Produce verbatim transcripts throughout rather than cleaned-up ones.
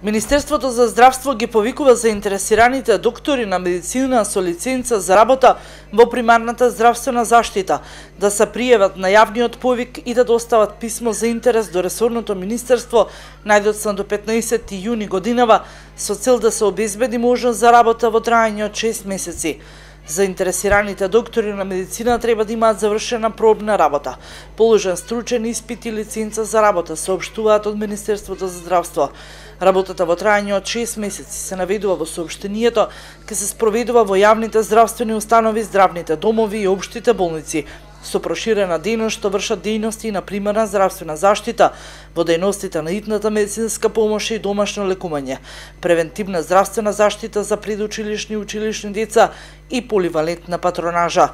Министерството за здравство ги повикува заинтересираните доктори на медицина со лиценца за работа во примарната здравствена заштита да се пријават на јавниот повик и да достават писмо за интерес до ресорното министерство најдоцна до петнаесетти јуни годинава со цел да се обезбеди можност за работа во траење од шест месеци. Заинтересираните доктори на медицина треба да имаат завршена пробна работа, положен стручен испит и лиценца за работа, соопштуваат од Министерството за здравство. Работата во траење од шест месеци се наведува во соопштението, ке се спроведува во јавните здравствени установи, здравните домови и општите болници, со проширена дејност што вршат дејности на примарна здравствена заштита во дејностите на итната медицинска помош и домашно лекување, превентивна здравствена заштита за предучилишни и училишни деца и поливалентна патронажа.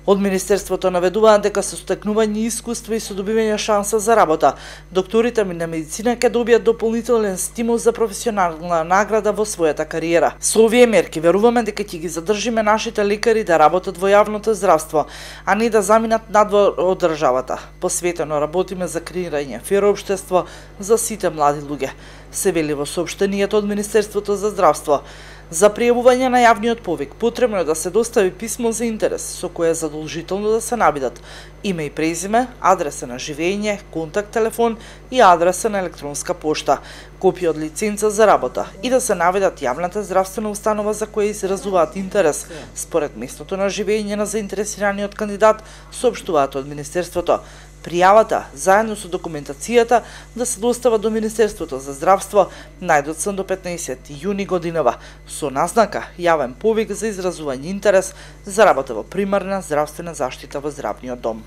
Од Министерството наведуваат дека со стекнување искуство и со добивање шанса за работа, докторите на медицина ќе добијат дополнителен стимул за професионална награда во својата кариера. Со овие мерки веруваме дека ќе ги задржиме нашите лекари да работат во јавното здравство, а не да заминат надвор од државата. Посветено работиме за креирање фер општество за сите млади луѓе, се вели во соопштението од Министерството за здравство. За пријавување на јавниот повик потребно е да се достави писмо за интерес со кое е задолжително да се наведат име и презиме, адреса на живење, контакт телефон и адреса на електронска пошта, копија од лиценца за работа и да се наведат јавната здравствена установа за која изразуваат интерес според местото на живење на заинтересираниот кандидат, соопштуваат од Министерството. Пријавата, заедно со документацијата, да се достава до Министерството за здравство најдоцна до петнаесетти јуни годинава, со назнака јавен повик за изразување интерес за работа во примарна здравствена заштита во здравниот дом.